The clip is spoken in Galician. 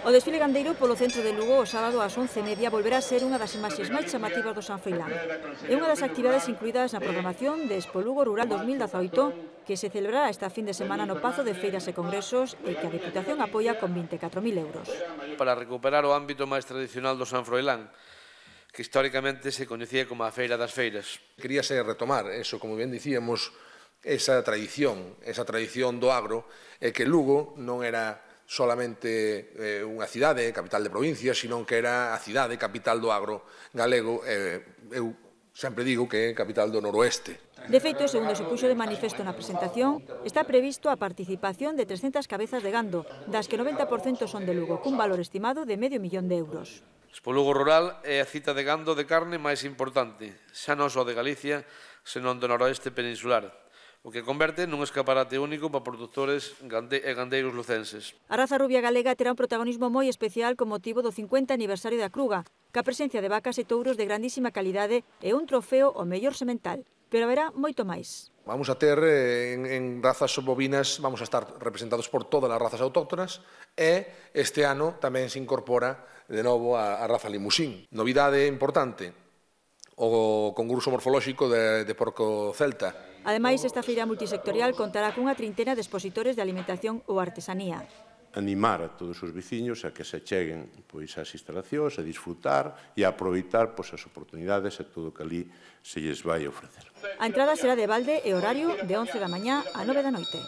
O desfile gandeiro polo centro de Lugo o sábado ás 11:30 volverá a ser unha das imaxes máis chamativas do San Froilán. É unha das actividades incluídas na programación de Expo Lugo Rural 2018 que se celebrará esta fin de semana no Pazo de Feiras e Congresos e que a Deputación apoia con 24.000 euros. Para recuperar o ámbito máis tradicional do San Froilán, que históricamente se coñecía como a Feira das Feiras. Queríase retomar eso, como ben dicíamos, esa tradición do agro, e que Lugo non era solamente unha cidade, capital de provincia, sino que era a cidade, capital do agro galego, eu sempre digo que é capital do noroeste. De feito, segundo se puxo de manifesto na presentación, está previsto a participación de 300 cabezas de gando, das que 90% son de Lugo, cun valor estimado de €500.000. Expo Lugo Rural é a cita de gando de carne máis importante, xa non só de Galicia, senón do noroeste peninsular, o que converte nun escaparate único para produtores e gandeiros lucenses. A raza rubia galega terá un protagonismo moi especial con motivo do 50 aniversario da Cruga, ca presencia de vacas e touros de grandísima calidade e un trofeo ao mellor semental. Pero haberá moito máis. Vamos a ter en razas bovinas, vamos a estar representados por todas as razas autóctonas e este ano tamén se incorpora de novo a raza limusín. Novidade importante, o concurso morfolóxico de porco celta. Ademais, esta feira multisectorial contará cunha trintena de expositores de alimentación ou artesanía. Animar a todos os veciños a que se cheguen ás instalacións, a disfrutar e a aproveitar as oportunidades e todo o que ali se lles vai ofrecer. A entrada será de balde e horario de 11 da mañá a 9 da noite.